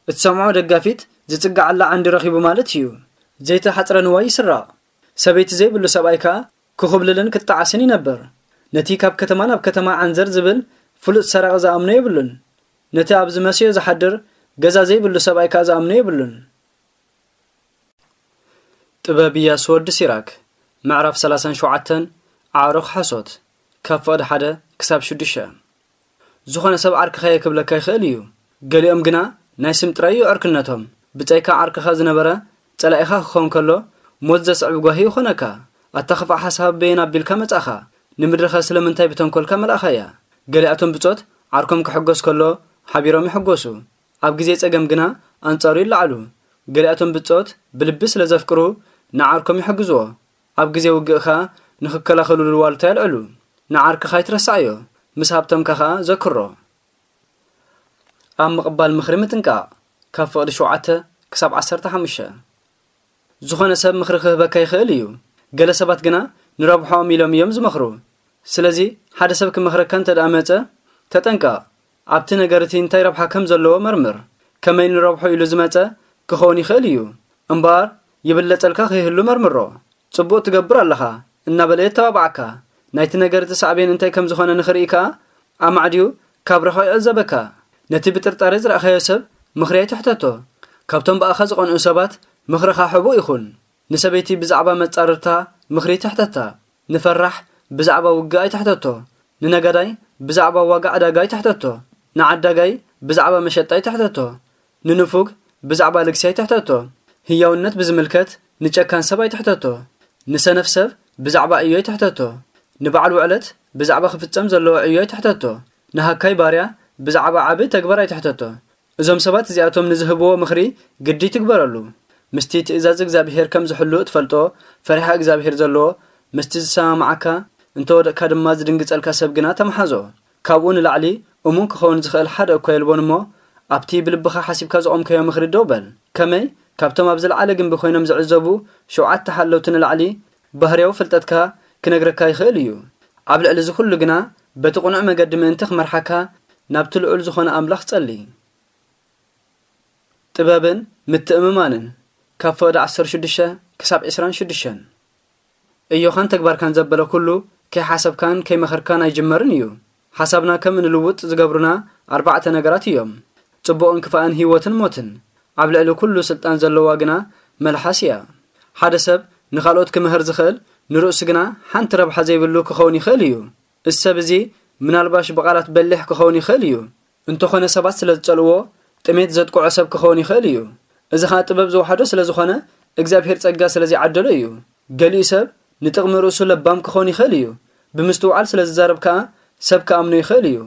እትሰምዖ ደጋፊት ዝጽግዓላ ዓንዲ ረኺቡ ማለት እዩ። ዘይተሓጽረ ንዋይ ይስረቕ። ሰበይቲ ዘይብሉ ሰብኣይ ከኣ ክኹብልልን ክጠዓስን ይነብር። ነቲ ካብ ከተማ ናብ ከተማ ዓንዘር ዝብል ፍሉጥ ሰራቒ ዝኣምኖ የብሉን። ነቲ ኣብ ዝመስዮ ዝሓድር ገዛ ዘይብሉ ሰብኣይ ከኣ ዝኣምኖ የብሉን። ጥበብ ኢያሱ ወዲ ሲራክ፣ ምዕራፍ ሰላሳን ሸውዓተን፣ ኣዕሩኽ ሓሶት፣ ካብ ፍቕዲ ሓደ ክሳብ ሽዱሽተ። ዝኾነ ሰብ ዓርክኻ'የ ክብለካ ይኽእል እዩ። ገሊኦም ግና ናይ ስም ጥራይ እዩ ዕርክነቶም። ብጻይካ ዓርክኻ ዝነበረ ጸላኢኻ ክኸውን ከሎ፣ ሞት ዘስዕብ ጓሂ ይኾነካ። ኣታ ኽፉእ ሓሳብ በየን ኣቢልካ መጻእኻ? ንምድርኸ ስለምንታይ ብተንኮልካ መልኣኻያ? ገሊኣቶም ብጾት ዓርኮም ክሕጎስ ከሎ ሓቢሮም ይሕጎሱ። ኣብ ግዜ ጸገም ግና ኣንጻሩ ይለዓሉ። ገሊኣቶም ብጾት ብልቢ ስለ ዘፍቅሩ ንዓርኮም ይሕግዝዎ። ኣብ ግዜ ውግእ ኸኣ ንኽከላኸሉሉ ዋልታ የልዕሉ። ንዓርክኻ ኣይትረስዓዮ፣ ምስ ሃብተምካ ኸኣ ዘክሮ። ኣብ ምቕባል ምኽሪ ምጥንቃቕ፣ ካብ ፍቕዲ ሸውዓተ ክሳብ ዓሰርተ ሓሙሽተ። ዝኾነ ሰብ ምኽሪ ክህበካ ይኽእል እዩ። ገለ ሰባት ግና ንረብሖኦም ኢሎም እዮም ዝመኽሩ። ስለዚ ሓደ ሰብ ክመኽረካ እንተ ደኣ መጸ፣ ተጠንቀቕ። ኣብቲ ነገር እቲ እንታይ ረብሓ ከም ዘለዎ መርምር። ከመይ ንረብሖ ኢሉ ዝመጸ ክኸውን ይኽእል እዩ። እምበኣር ይብለጸልካ ከይህሉ መርምሮ። ጽቡቕ ትገብር ኣለኻ እናበለ የተባብዓካ። ናይቲ ነገር እቲ ሳዕቤን እንታይ ከም ዝኾነ ንኽርኢ ከኣ ኣማዕድዩ ካብ ርሑቕ ይዕዘበካ። ነቲ ብጥርጣሬ ዝረኣኻዮ ሰብ ምኽሪ ኣይትሕተቶ። ካብቶም ብኣኻ ዝቐንኡ ሰባት ምኽርኻ ሕቡእ ይኹን። ንሰበይቲ ብዛዕባ መጻርርታ ምኽሪ ትሕተታ። ንፈራሕ ብዛዕባ ውግእ ኣይትሕተቶ። ንነጋዳይ ብዛዕባ ዋጋ ዕዳጋ ኣይትሕተቶ። ንዓዳጋይ ብዛዕባ መሸጣ ኣይትሕተቶ። ንንፉግ ብዛዕባ ልግሲ ኣይትሕተቶ። ህያውነት ብዝምልከት ንጨካን ሰብ ኣይትሕተቶ። ንሰነፍ ሰብ ብዛዕባ ዕዮ ኣይትሕተቶ። ንበዓል ውዕለት ብዛዕባ ክፍጸም ዘለዎ ዕዮ ኣይትሕተቶ። ንሃካይ ባርያ ብዛዕባ ዓቢ ተግባር ኣይትሕተቶ። እዞም ሰባት እዚኣቶም ንዝህብዎ ምኽሪ ግዲ ትግበረሉ። ምስቲ ትእዛዝ እግዚኣብሄር ከም ዝሕሉ እትፈልጦ ፈሪሃ እግዚኣብሄር ዘለዎ፣ ምስቲ ዝሰማምዓካ፣ እንተወደቕካ ድማ ዝድንግጸልካ ሰብ ግና ተመሓዞ። ካብኡ ንላዕሊ እሙን ክኸውን ዝኽእል ሓደ እኳ የልቦን እሞ፣ ኣብቲ ብልብኻ ሓሲብካ ዝቖምካዮ ምኽሪ ደው በል። ከመይ? ካብቶም ኣብ ዝለዓለ ግንቢ ኮይኖም ዝዕዘቡ ሸውዓተ ሓለውቲ ንላዕሊ ባህርያዊ ፍልጠትካ ክነግረካ ይኽእል እዩ። ኣብ ልዕሊ እዚ ኩሉ ግና በቲ ቅኑዕ መገዲ ምእንቲ ክመርሓካ ናብቲ ልዑል ዝኾነ ኣምላኽ ጸሊ። ጥበብን ምትእምማንን ካብ ፈቐዶ ዓሰርተ ሽዱሽተ ክሳብ ዕስራን ሽዱሽተን። እዮኻን ተግባርካን ዘበለ ኩሉ ከይሓሰብካን ከይመኸርካን ኣይጅመርን እዩ። ሓሳብና ከም እንልውጥ ዝገብሩና ኣርባዕተ ነገራት እዮም። ጽቡቕን ክፋእን ህይወትን ሞትን። ኣብ ልዕሊ ኩሉ ስልጣን ዘለዋ ግና መልሓስ እያ። ሓደ ሰብ ንኻልኦት ክምህር ዝኽእል ንርእሱ ግና ሓንቲ ረብሓ ዘይብሉ ክኸውን ይኽእል እዩ። እዚ ሰብ እዚ ምናልባሽ ብቓላት በሊሕ ክኸውን ይኽእል እዩ። እንተኾነ ሰባት ስለ ዝጸልእዎ ጥሜት ዘጥቅዖ ሰብ ክኸውን ይኽእል እዩ። እዚ ኸኣ ጥበብ ዝወሓዶ ስለ ዝኾነ እግዚኣብሔር ጸጋ ስለ ዘይዓደሎ እዩ። ገሊኡ ሰብ ንጥቕሚ ርእሱ ለባም ክኸውን ይኽእል እዩ። ብምስትውዓል ስለ ዝዛረብ ከኣ ሰብ ክኣምኖ ይኽእል እዩ።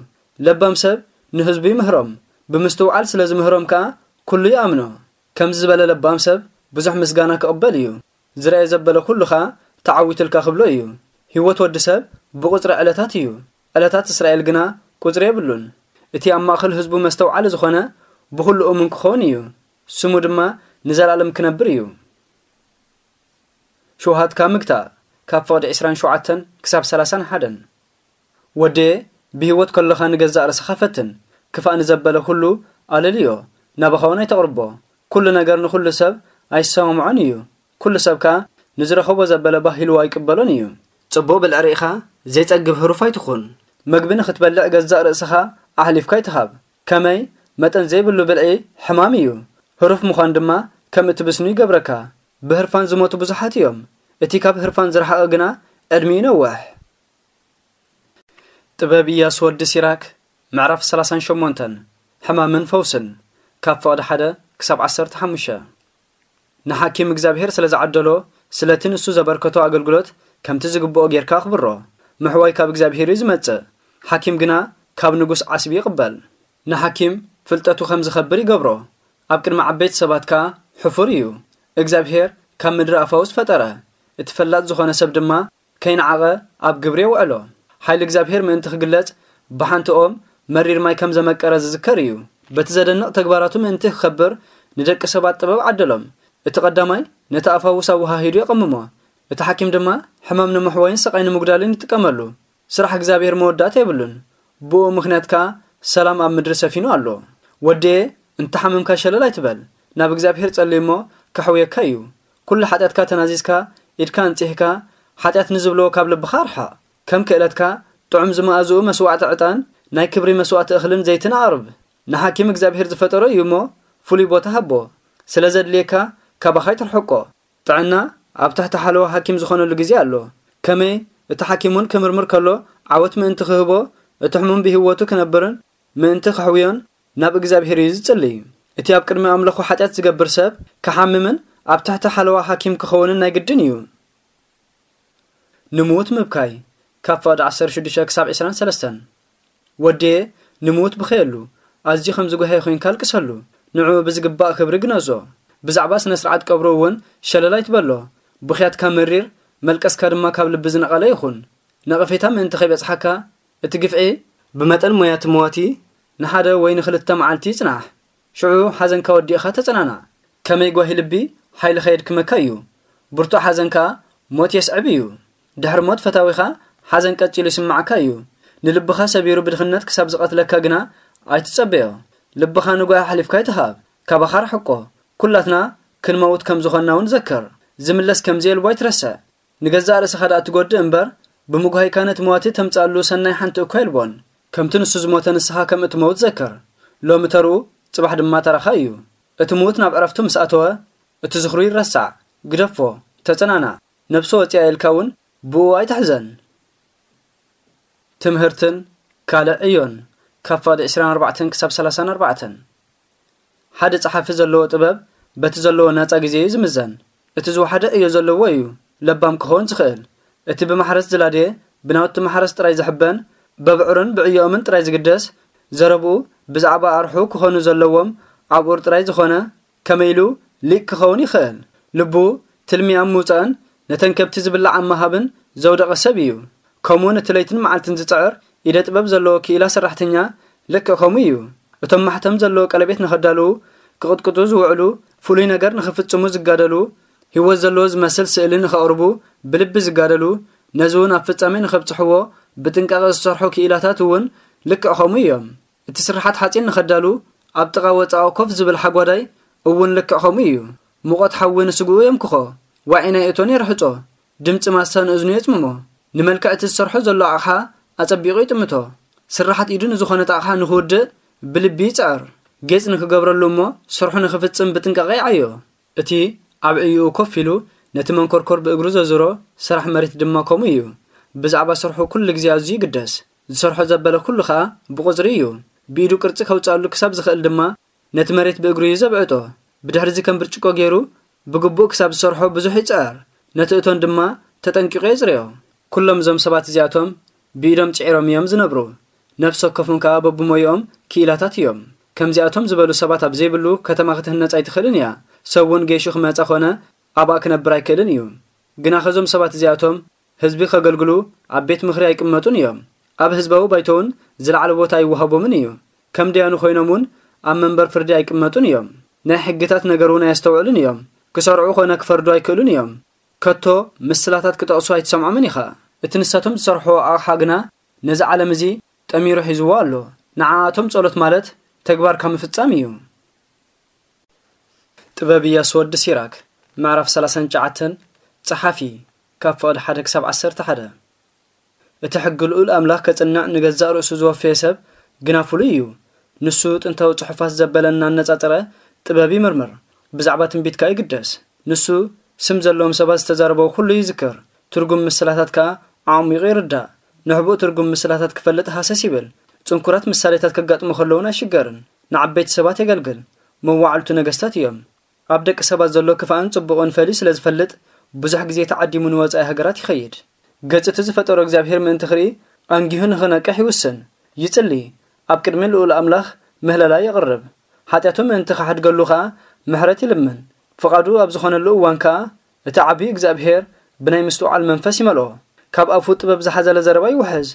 ለባም ሰብ ንህዝቡ ይምህሮም። ብምስትውዓል ስለ ዝምህሮም ከኣ ኩሉ ይኣምኖ። ከምዚ ዝበለ ለባም ሰብ ብዙሕ ምስጋና ክቕበል እዩ። ዝረኣየ ዘበለ ኩሉ ኸኣ ተዓዊትልካ ክብሎ እዩ። ህይወት ወዲ ሰብ ብቑጽሪ ዕለታት እዩ። ዕለታት እስራኤል ግና ቁጽሪ የብሉን። እቲ ኣብ ማእከል ህዝቡ መስተውዓሊ ዝኾነ ብኹሉ እሙን ክኸውን እዩ። ስሙ ድማ ንዘለኣለም ክነብር እዩ። ሽውሃትካ ምግታእ ካብ ፍቕዲ ዕስራን ሸውዓተን ክሳብ ሰላሳን ሓደን። ወደየ ብህይወት ከለኻ ንገዛእ ርእስኻ ፈትን። ክፋእ ንዘበለ ኩሉ ኣለልዮ፣ ናባኻ እውን ኣይተቕርቦ። ኩሉ ነገር ንኹሉ ሰብ ኣይሰማምዖን እዩ። ኩሉ ሰብ ከኣ ንዝረኸቦ ዘበለ ባህ ኢልዎ ኣይቅበሎን እዩ። ጽቡቕ ብልዒ ርኢኻ ዘይጸግብ ህሩፍ ኣይትኹን። መግቢ ንኽትበልዕ ገዛእ ርእስኻ ኣሕሊፍካ ኣይትሃብ። ከመይ መጠን ዘይብሉ ብልዒ ሕማም እዩ። ህሩፍ ምዃን ድማ ከም እትብስኑ ይገብረካ። ብህርፋን ዝሞቱ ብዙሓት እዮም። እቲ ካብ ህርፋን ዝረሓቐ ግና ዕድሚኡ ይነውሕ። ጥበብ ኢያሱ ወዲ ሲራክ ምዕራፍ ሰላሳን ሸሞንተን። ሕማምን ፈውስን ካብ ፍቕዲ ሓደ ክሳብ ዓሰርተ ሓሙሽተ። ንሓኪም እግዚኣብሔር ስለ ዝዓደሎ ስለቲ ንሱ ዘበርከቶ ኣገልግሎት ከምቲ ዝግብኦ ጌርካ ኣኽብሮ። ምሕዋይ ካብ እግዚኣብሔር እዩ ዝመጽእ፣ ሓኪም ግና ካብ ንጉስ ዓስቢ ይቕበል። ንሓኪም ፍልጠቱ ከም ዝኸብር ይገብሮ፣ ኣብ ቅድሚ ዓበይቲ ሰባት ከኣ ሕፉር እዩ። እግዚኣብሔር ካብ ምድሪ ኣፋውስ ፈጠረ፣ እቲ ፈላጥ ዝኾነ ሰብ ድማ ከይነዓቐ ኣብ ግብሪ የውዕሎ። ሓይሊ እግዚኣብሔር ምእንቲ ክግለጽ ብሓንቲ ኦም መሪር ማይ ከም ዘመቀረ ዝዝከር እዩ። በቲ ዘደንቕ ተግባራቱ ምእንቲ ክኸብር ንደቂ ሰባት ጥበብ ዓደሎም። እቲ ቀዳማይ ነቲ ኣፋውስ ኣወሃሂዱ የቐምሞ። እቲ ሓኪም ድማ ሕማም ንምሕዋይን ስቓይ ንምጉዳልን ይጥቀመሉ። ስራሕ እግዚኣብሔር መወዳእታ የብሉን። ብኡ ምኽንያት ከኣ ሰላም ኣብ ምድሪ ሰፊኑ ኣሎ። ወደየ እንተሓመምካ ሸለል ኣይትበል። ናብ እግዚኣብሔር ጸሊ እሞ ከሕውየካ እዩ። ኩሉ ሓጢኣትካ ተናዚዝካ ኢድካ ኣንጺህካ ሓጢኣት ንዝብልዎ ካብ ልብኻ ኣርሓቕ። ከም ክእለትካ ጥዑም ዝመኣዝኡ መስዋዕቲ ዕጣን ናይ ክብሪ መስዋዕቲ እኽልን ዘይትን ኣቕርብ። ንሓኪም እግዚኣብሔር ዝፈጠሮ እዩ እሞ ፍሉይ ቦታ ሃቦ። ስለ ዘድልየካ ካባኻ ኣይትርሕቆ። ጥዕና ኣብ ትሕቲ ሓለዋ ሓኪም ዝኾነሉ ግዜ ኣሎ። ከመይ እቲ ሓኪም እውን ክምርምር ከሎ ዓወት ምእንቲ ክህቦ እቲ ሕሙም ብህይወቱ ክነብርን ምእንቲ ከሕውዮን ናብ እግዚኣብሔር እዩ ዝጽሊ። እቲ ኣብ ቅድሚ ኣምለኹ ሓጢኣት ዝገብር ሰብ ክሓምምን ኣብ ትሕቲ ሓለዋ ሓኪም ክኸውንን ናይ ግድን እዩ። ንምዉት ምብካይ ካብ ፍቕዲ ዓሰርተ ሽዱሽተ ክሳብ ዕስራን ሰለስተን። ወድየ ንምዉት ብኸየሉ፣ ኣዝዩ ከም ዝጓሃየ ኮይንካ ኣልቅሰሉ፣ ንዕኡ ብዝግባእ ክብሪ ግነዞ። ብዛዕባ ስነ ስርዓት ቀብሩ እውን ሸለል ኣይትበሎ። ብኽያትካ መሪር፣ መልቀስካ ድማ ካብ ልቢ ዝነቐለ ይኹን። ነቐፌታ ምእንቲ ከይበጽሓካ፣ እቲ ግፍዒ ብመጠን ሞያ እቲ መዋቲ ንሓደ ወይ ንኽልተ መዓልቲ ይጽናሕ። ሽዑ ሓዘንካ ወዲእኻ ተጸናናዕ። ከመይ ጓሂ ልቢ ሓይልኻ የድክመካ እዩ። ብርቱዕ ሓዘን ከኣ ሞት የስዕብ እዩ። ድሕሪ ሞት ፈታዊኻ ሓዘን ቀጺሉ ይስምዓካ እዩ። ንልብኻ ሰቢሩ ብድኽነት ክሳብ ዝቐትለካ ግና ኣይትጸበዮ። ልብኻ ንጓሂ ኣሕሊፍካ ኣይትሃብ። ካባኻ ርሕቆ። ኩላትና ክንመውት ከም ዝኾንና እውን ዘክር። ዝምለስ ከም ዘየልቦ ኣይትረስዕ። ንገዛእ ርእስኻ ደኣ ትጎድእ እምበር፣ ብምጉሃይካ ነቲ መዋቲ ተምጽኣሉ ሰናይ ሓንቲ እኳ የልቦን። ከምቲ ንሱ ዝሞተ ንስኻ ከም እትመውት ዘክር። ሎሚ ተርኡ፣ ጽባሕ ድማ ተራኻ እዩ። እቲ ምዉት ናብ ዕረፍቱ ምስ ኣተወ፣ እቲ ዝኽሩ ይረሳዕ። ግደፎ፣ ተጸናናዕ፣ ነብሱ ወጺኣ ኢልካ እውን ብኡ ኣይትሕዘን። ትምህርትን ካልእ ዕዮን፣ ካብ ፍቕዲ ዕስራን ኣርባዕተን ክሳብ ሰላሳን ኣርባዕተን። ሓደ ጸሓፊ ዘለዎ ጥበብ በቲ ዘለዎ ናጻ ግዜ እዩ ዝምዘን። እቲ ዝወሓደ ዕዮ ዘለዎ እዩ ለባም ክኸውን ዝኽእል። እቲ ብማሕረስ ዝላድየ፣ ብናውቲ ማሕረስ ጥራይ ዝሕበን፣ በብዕሩን ብዕዮኦምን ጥራይ ዝግደስ፣ ዘረብኡ ብዛዕባ ኣርሑ ክኾኑ ዘለዎም ኣብኡር ጥራይ ዝኾነ፣ ከመይ ኢሉ ሊቅ ክኸውን ይኽእል? ልቡ ትልሚ ኣብ ምውጻእን ነተን ከብቲ ዝብላዕ ኣብ ምሃብን ዘውደቐ ሰብ እዩ። ከምኡውን እቲ ለይትን መዓልትን ዝጽዕር ኢደ ጥበብ ዘለዎ ክኢላ ሰራሕተኛ ልክዕ ከምኡ እዩ። እቶም ማሕተም ዘለዎ ቀለቤት ንኸዳልዉ፣ ክቕጥቅጡ ዝውዕሉ፣ ፍሉይ ነገር ንኽፍጽሙ ዝጋደሉ፣ ህይወት ዘለዎ ዝመስል ስእሊ ንኸቕርቡ ብልቢ ዝጋደሉ፣ ነዚ እውን ኣብ ፍጻሜ ንኸብጽሕዎ ብጥንቃቐ ዝሰርሑ ክኢላታት እውን ልክዕ ከምኡ እዮም። እቲ ስርሓት ሓጺን ንኸዳሉ ኣብ ጥቓ ወጻኦ ኮፍ ዝብል ሓጓዳይ እውን ልክዕ ከምኡ እዩ። ሙቐት ሓዊ ንስግኡ የምክኾ፣ ዋዒ ናይ እቶን የርሕጾ፣ ድምጺ ማስታ ንእዝኑ የጽምሞ። ንመልክዕ እቲ ዝሰርሖ ዘሎ ኣቕሓ ኣጸቢቑ ይጥምቶ። ስርሓት ኢዱ ንዝኾነት ኣቕሓ ንኽውድእ ብልቢ ይጽዕር። ጌጽ ንክገብረሉ እሞ ስርሑ ንኽፍጽም ብጥንቃቐ ይዓዮ። እቲ ኣብ ዕይኡ ኮፍ ኢሉ ነቲ መንኮርኮር ብእግሩ ዘዙሮ ስራሕ መሬት ድማ ከምኡ እዩ። ብዛዕባ ስርሑ ኩሉ ግዜ ኣዝዩ ይግደስ። ዝሰርሖ ዘበለ ኩሉ ኸኣ ብቑጽሪ እዩ። ብኢዱ ቅርጺ ከውጽኣሉ ክሳብ ዝኽእል ድማ ነቲ መሬት ብእግሩ እዩ ዘብዕጦ። ብድሕሪዚ ከም ብርጭቆ ገይሩ ብግቡእ ክሳብ ዝሰርሖ ብዙሕ ይጽዕር። ነቲ እቶን ድማ ተጠንቂቑ የጽርዮ። ኩሎም እዞም ሰባት እዚኣቶም ብኢዶም ጽዒሮም እዮም ዝነብሩ። ነፍሲ ወከፎም ከኣ በብሞይኦም ክኢላታት እዮም። ከምዚኣቶም ዝበሉ ሰባት ኣብ ዘይብሉ ከተማ ክትህነጽ ኣይትኽእልን እያ። ሰብ እውን ገይሹ ክመጻ ኾነ ኣብኣ ክነብር ኣይክእልን እዩ። ግናኸ እዞም ሰባት እዚኣቶም ህዝቢ ከገልግሉ ኣብ ቤት ምኽሪ ኣይቅመጡን እዮም። ኣብ ህዝባዊ ባይቶ እውን ዝለዓለ ቦታ ኣይወሃቦምን እዩ። ከም ደያኑ ኮይኖም እውን ኣብ መንበር ፍርዲ ኣይቅመጡን እዮም። ናይ ሕግታት ነገር እውን ኣየስተውዕሉን እዮም። ክሰርዑ ኾነ ክፈርዱ ኣይክእሉን እዮም። ከቶ ምስላታት ክጠቕሱ ኣይትሰምዖምን ኢኻ። እቲ ንሳቶም ዝሰርሕዎ ኣቕሓ ግና ነዚ ዓለም እዚ ጠሚሩ ሒዝዎ ኣሎ። ንዓኣቶም ጸሎት ማለት ተግባርካ ምፍጻም እዩ። ጥበብ ኢያሱ ወዲ ሲራክ፣ ምዕራፍ ሰላሳን ትሽዓተን፣ ጸሓፊ፣ ካብ ፍቕዲ ሓደ ክሳብ ዓሰርተ ሓደ። እቲ ሕጊ ልኡል ኣምላኽ ከጽንዕ ንገዛእ ርእሱ ዝወፈየ ሰብ ግና ፍሉይ እዩ። ንሱ ጥንታዊ ጽሑፋት ዘበለ እናነጻጸረ ጥበብ ይምርምር፣ ብዛዕባ ትንቢት ከኣ ይግደስ። ንሱ ስም ዘለዎም ሰባት ዝተዛረበዎ ኩሉ ይዝክር፣ ትርጉም ምስላታት ከኣ ኣዕሚቑ ይርዳእ። ንሕቡእ ትርጉም ምስላታት ክፈልጥ ሃሰስ ይብል። ጽንኩራት ምሳሌታት ከጋጥሞ ከለዉን ኣይሽገርን። ንዓበይቲ ሰባት የገልግል። መዋዕልቱ ነገስታት እዮም። ኣብ ደቂ ሰባት ዘሎ ክፋእን ጽቡቕን ፈልዩ ስለ ዝፈልጥ፣ ብዙሕ ግዜ ተዓዲሙ ንወጻኢ ሃገራት ይኸይድ። ገጽ እቲ ዝፈጠሮ እግዚኣብሔር ምእንቲ ክርኢ፣ ኣንጊሁ ንኽነቅሕ ይውስን። ይጽሊ። ኣብ ቅድሚ ልኡል ኣምላኽ ምህለላ የቕርብ። ሓጢኣቱ ምእንቲ ክሓድገሉ ኸኣ ምሕረት ይልምን። ፍቓዱ ኣብ ዝኾነሉ እዋን ከኣ፣ እቲ ዓብዪ እግዚኣብሔር ብናይ ምስትውዓል መንፈስ ይመልኦ። ካብ ኣፉ ጥበብ ዝሓዘለ ዘረባ ይውሕዝ።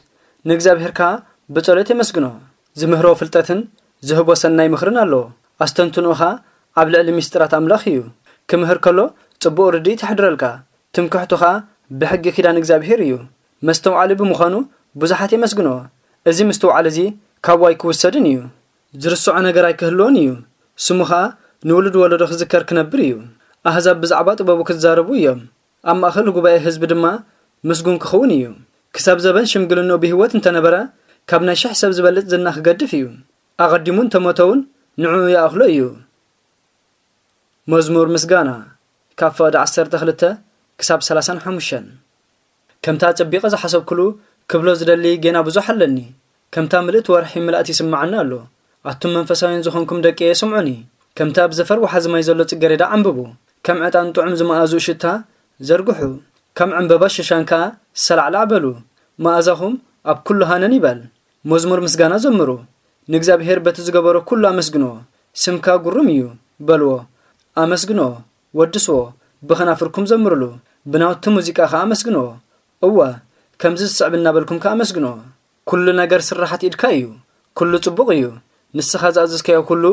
ንእግዚኣብሔር ከኣ ብጸሎት የመስግኖ። ዝምህሮ ፍልጠትን ዝህቦ ሰናይ ምኽርን ኣሎ። ኣስተንትኖኡ ኸኣ ኣብ ልዕሊ ምስጢራት ኣምላኽ እዩ። ክምህር ከሎ ጽቡቕ ርድኢት የሕድረልካ። ትምክሕቱ ኸኣ ብሕጊ ኪዳን እግዚኣብሔር እዩ። መስተውዓሊ ብምዃኑ ብዙሓት የመስግንዎ። እዚ ምስትውዓል እዚ ካብኡ ኣይክውሰድን እዩ። ዝርስዖ ነገር ኣይክህልዎን እዩ። ስሙ ኸኣ ንውሉድ ወለዶ ክዝከር ክነብር እዩ። ኣህዛብ ብዛዕባ ጥበቡ ክዛረቡ እዮም። ኣብ ማእከል ጉባኤ ህዝቢ ድማ ምስጉን ክኸውን እዩ። ክሳብ ዘበን ሽምግልንኡ ብህይወት እንተነበረ፣ ካብ ናይ ሽሕ ሰብ ዝበልጽ ዝና ክገድፍ እዩ። ኣቐዲሙ እንተሞተ እውን ንዕኡ ይኣኽሎ እዩ። መዝሙር ምስጋና፣ ካብ ፍቕዲ ዓሰርተ ክልተ ክሳብ ሰላሳን ሓሙሽተን። ከምታ ኣጸቢቐ ዝሓሰብኩሉ ክብሎ ዝደሊ ጌና ብዙሕ ኣለኒ። ከምታ ምልእቲ ወርሒ ምልኣት ይስምዓኒ ኣሎ። ኣቱም መንፈሳውያን ዝኾንኩም ደቀየ፣ ስምዑኒ። ከምቲ ኣብ ዘፈር ወሓዚ ማይ ዘሎ ጽጌረዳ ዓምብቡ። ከም ዕጣን ጥዑም ዝመኣዝኡ ሽታ ዘርግሑ። ከም ዕምበባ ሸሻን ከኣ ሰላዕላዕ በሉ። መኣዛኹም ኣብ ኩሉ ሃነን ይበል። መዝሙር ምስጋና ዘምሩ። ንእግዚኣብሔር በቲ ዝገበሮ ኩሉ ኣመስግንዎ። ስምካ ግሩም እዩ በልዎ። ኣመስግንዎ፣ ወድስዎ፣ ብኸናፍርኩም ዘምሩሉ። ብናውቲ ሙዚቃ ከኣ ኣመስግንዎ። እወ፣ ከምዚ ዝስዕብ እናበልኩም ከኣ ኣመስግንዎ። ኩሉ ነገር ስርሓት ኢድካ እዩ። ኩሉ ጽቡቕ እዩ። ንስኻ ዝኣዘዝካዮ ኩሉ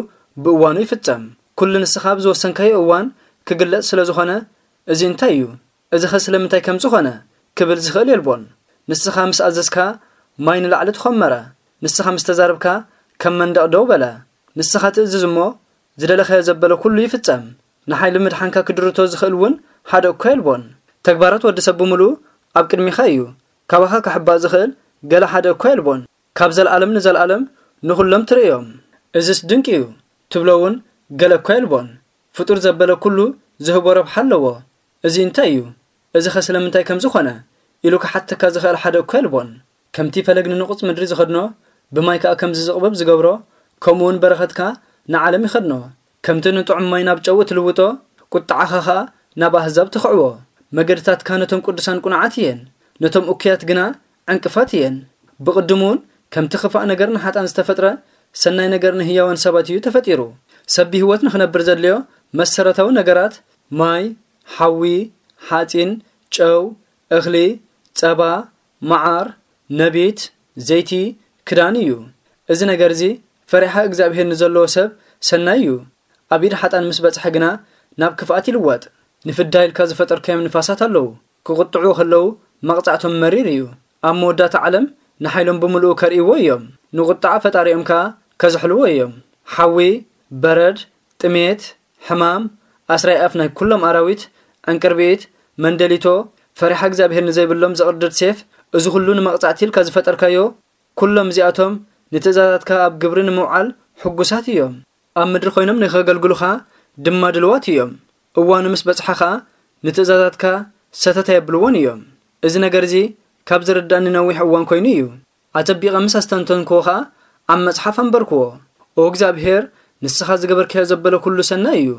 ብእዋኑ ይፍጸም። ኩሉ ንስኻ ኣብ ዝወሰንካዮ እዋን ክግለጽ ስለ ዝኾነ፣ እዚ እንታይ እዩ? እዚኸ ስለምንታይ ከምዚ ኾነ? ክብል ዝኽእል የልቦን። ንስኻ ምስ ኣዘዝካ፣ ማይ ንላዕሊ ተኾመረ። ንስኻ ምስ ተዛረብካ፣ ከም መንደቕ ደው በለ። ንስኻ ትእዝዝ እሞ፣ ዝደለኻዮ ዘበለ ኩሉ ይፍጸም። ንሓይሊ ምድሓንካ ክድርቶ ዝኽእል እውን ሓደ እኳ የልቦን። ተግባራት ወዲ ሰብ ብምሉኡ ኣብ ቅድሚኻ እዩ። ካባኻ ክሕባእ ዝኽእል ገለ ሓደ እኳ የልቦን። ካብ ዘለኣለም ንዘለኣለም ንኹሎም ትርእዮም። እዝስ ድንቂ እዩ ትብሎ እውን ገለ እኳ የልቦን። ፍጡር ዘበለ ኩሉ ዝህቦ ረብሓ ኣለዎ። እዚ እንታይ እዩ? እዚኸ ስለምንታይ ከምዚ ኾነ? ኢሉ ክሓተካ ዝኽእል ሓደ እኳ የልቦን። ከምቲ ፈለግ ንንቑጽ ምድሪ ዝኸድኖ፣ ብማይ ከኣ ከምዚ ዝቕብብ ዝገብሮ፣ ከምኡ እውን በረኸትካ ንዓለም ይኸድኖ። ከምቲ ንጥዑም ማይ ናብ ጨው እትልውጦ፣ ቁጥዓኻ ኸኣ ናብ ኣህዛብ ትኽዕዎ። መገድታትካ ነቶም ቅዱሳን ቁኑዓት እየን፣ ነቶም እኩያት ግና ዕንቅፋት እየን። ብቕድሙ እውን ከምቲ ክፋእ ነገር ንሓጥኣን ዝተፈጥረ፣ ሰናይ ነገር ንህያዋን ሰባት እዩ ተፈጢሩ። ሰብ ብህይወት ንኽነብር ዘድልዮ መሰረታዊ ነገራት፣ ማይ፣ ሓዊ፣ ሓጺን፣ ጨው፣ እኽሊ፣ ጸባ፣ መዓር፣ ነቢት፣ ዘይቲ፣ ክዳን እዩ። እዚ ነገር እዚ ፈሪሓ እግዚኣብሄር ንዘለዎ ሰብ ሰናይ እዩ። ኣብ ኢድ ሓጥኣን ምስ በጽሐ ግና ናብ ክፍኣት ይልወጥ። ንፍዳ ኢልካ ዝፈጠርካዮም ንፋሳት ኣለዉ። ክቕጥዑ ከለዉ መቕጻዕቶም መሪር እዩ። ኣብ መወዳእታ ዓለም ንሓይሎም ብምልኡ ከርእይዎ እዮም። ንቑጥዓ ፈጣሪኦም ከኣ ከዝሕልዎ እዮም። ሓዊ፣ በረድ፣ ጥሜት፣ ሕማም፣ ኣስራይ ኣፍ ናይ ኩሎም ኣራዊት፣ ዕንቅርቢት፣ መንደሊቶ፣ ፈሪሓ እግዚኣብሄር ንዘይብሎም ዘቕርድድ ሴፍ፣ እዚ ኩሉ ንመቕጻዕቲ ኢልካ ዝፈጠርካዮ፣ ኩሎም እዚኣቶም ንትእዛዛትካ ኣብ ግብሪ ንምውዓል ሕጉሳት እዮም። ኣብ ምድሪ ኮይኖም ንኸገልግሉኻ ድማ ድልዋት እዮም። እዋኑ ምስ በጽሓ ኸኣ ንትእዛዛትካ ሰተት ኣየብልዎን እዮም። እዚ ነገር እዚ ካብ ዝርዳእኒ ነዊሕ እዋን ኮይኑ እዩ። ኣጸቢቐ ምስ ኣስተንተንክዎ ኸኣ ኣብ መጽሓፍ ኣንበርክዎ። ኦ እግዚኣብሄር፣ ንስኻ ዝገበርካዮ ዘበለ ኩሉ ሰናይ እዩ።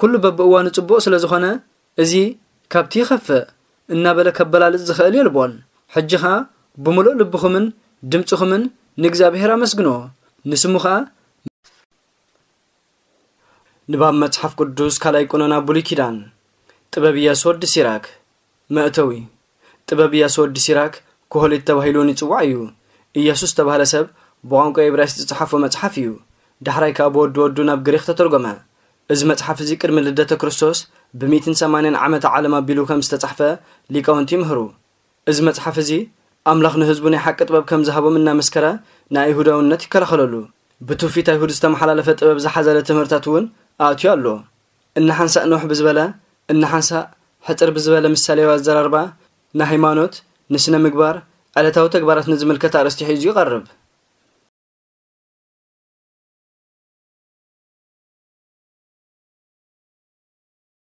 ኩሉ በብእዋኑ ጽቡቕ ስለ ዝኾነ፣ እዚ ካብቲ ይኸፍእ እናበለ ከበላልጽ ዝኽእል የልቦን። ሕጂ ኸኣ ብምሉእ ልብኹምን ድምጽኹምን ንእግዚኣብሄር ኣመስግንዎ። ንስሙ ኸኣ ንባብ መጽሓፍ ቅዱስ ካልኣይ ቀኖና ብሉይ ኪዳን። ጥበብ ኢያሱ ወዲ ሲራክ። መእተዊ። ጥበብ ኢያሱ ወዲ ሲራክ ኮሆሊት ተባሂሉ እውን ይጽዋዕ እዩ። ኢያሱ ዝተባህለ ሰብ ብቋንቋ እብራይስጥ ዝጸሓፎ መጽሓፍ እዩ። ዳሕራይ ከኣ ብወዲ ወዱ ናብ ግሪኽ ተተርጎመ። እዚ መጽሓፍ እዚ ቅድሚ ልደተ ክርስቶስ ብሚእትን ሰማንያን ዓመተ ዓለም ኣቢሉ ከም ዝተጻሕፈ ሊቃውንቲ ይምህሩ። እዚ መጽሓፍ እዚ ኣምላኽ ንህዝቡ ናይ ሓቂ ጥበብ ከም ዝሃቦም እናመስከረ ንኣይሁዳውነት ይከላኸለሉ። ብትውፊት ኣይሁድ ዝተመሓላለፈ ጥበብ ዝሓዘለ ትምህርታት እውን ኣእትዩ ኣሎ። እናሓንሳእ ንውሕ ብዝበለ፣ እናሓንሳእ ሕጽር ብዝበለ ምሳሌያዊ ኣዘራርባ ንሃይማኖት፣ ንስነ ምግባር፣ ዕለታዊ ተግባራት ንዝምልከት ኣርእስቲ ሒዙ ይቐርብ።